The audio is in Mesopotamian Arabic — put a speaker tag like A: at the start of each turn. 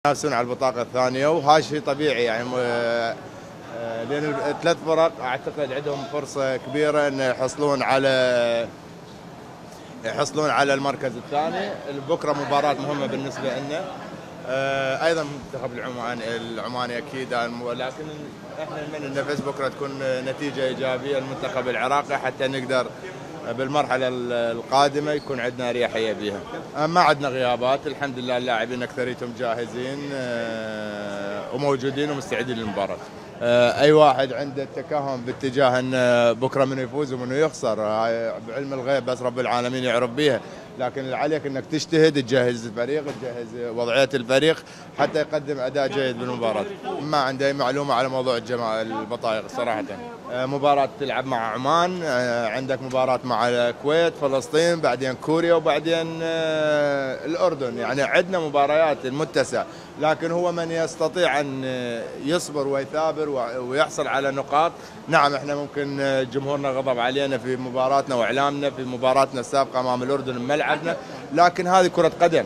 A: ينافسون على البطاقة الثانية وهذا شيء طبيعي يعني لأن الثلاث فرق أعتقد عندهم فرصة كبيرة أن يحصلون على المركز الثاني. بكرة مباراة مهمة بالنسبة لنا، أيضا منتخب العماني أكيد، لكن احنا نتمنى أن نفس بكرة تكون نتيجة إيجابية للمنتخب العراقي حتى نقدر بالمرحلة القادمة يكون عندنا أريحية بها. ما عندنا غيابات الحمد لله، اللاعبين أكثريتهم جاهزين وموجودين ومستعدين للمباراة. أي واحد عنده التكهن باتجاه أن بكرة منو يفوز ومنو يخسر بعلم الغيب بس رب العالمين يعرف بيها، لكن اللي عليك أنك تجتهد، تجهز الفريق، تجهز وضعية الفريق حتى يقدم أداء جيد بالمباراة. ما عندي أي معلومة على موضوع البطايق صراحة. مباراة تلعب مع عمان، عندك مباراة مع الكويت، فلسطين، بعدين كوريا، وبعدين الأردن. يعني عندنا مباريات متسعة، لكن هو من يستطيع أن يصبر ويثابر ويحصل على نقاط. نعم احنا ممكن جمهورنا غضب علينا في مباراتنا واعلامنا في مباراتنا السابقة امام الاردن بملعبنا، لكن هذه كرة قدم.